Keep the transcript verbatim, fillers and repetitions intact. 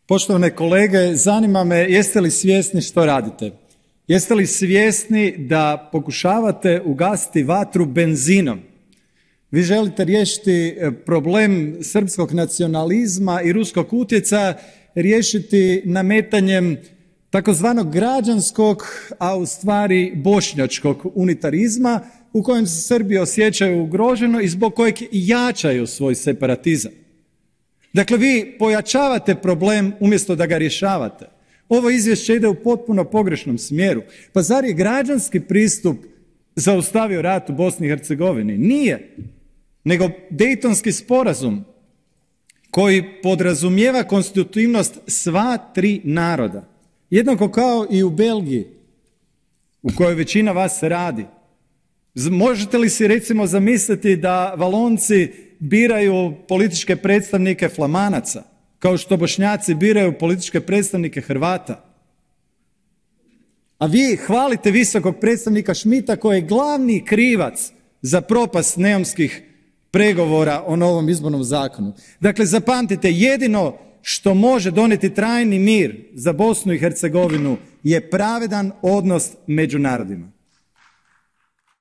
Poštovane kolege, zanima me jeste li svjesni što radite? Jeste li svjesni da pokušavate ugasiti vatru benzinom? Vi želite riješiti problem srpskog nacionalizma i ruskog utjecaja, riješiti nametanjem takozvanog građanskog, a u stvari bošnjačkog unitarizma u kojem se Srbi osjećaju ugroženo i zbog kojeg jačaju svoj separatizam. Dakle, vi pojačavate problem umjesto da ga rješavate. Ovo izvješće ide u potpuno pogrešnom smjeru. Pa zar je građanski pristup zaustavio rat u Bosni i Hercegovini? Nije. Nego Dejtonski sporazum koji podrazumijeva konstitutivnost sva tri naroda. Jednako kao i u Belgiji, u kojoj većina vas radi. Možete li si recimo zamisliti da Valonci biraju političke predstavnike Flamanaca, kao što Bošnjaci biraju političke predstavnike Hrvata? A vi hvalite visokog predstavnika Schmidta koji je glavni krivac za propast neumskih pregovora o novom izbornom zakonu. Dakle, zapamtite, jedino što može donijeti trajni mir za Bosnu i Hercegovinu je pravedan odnos među narodima.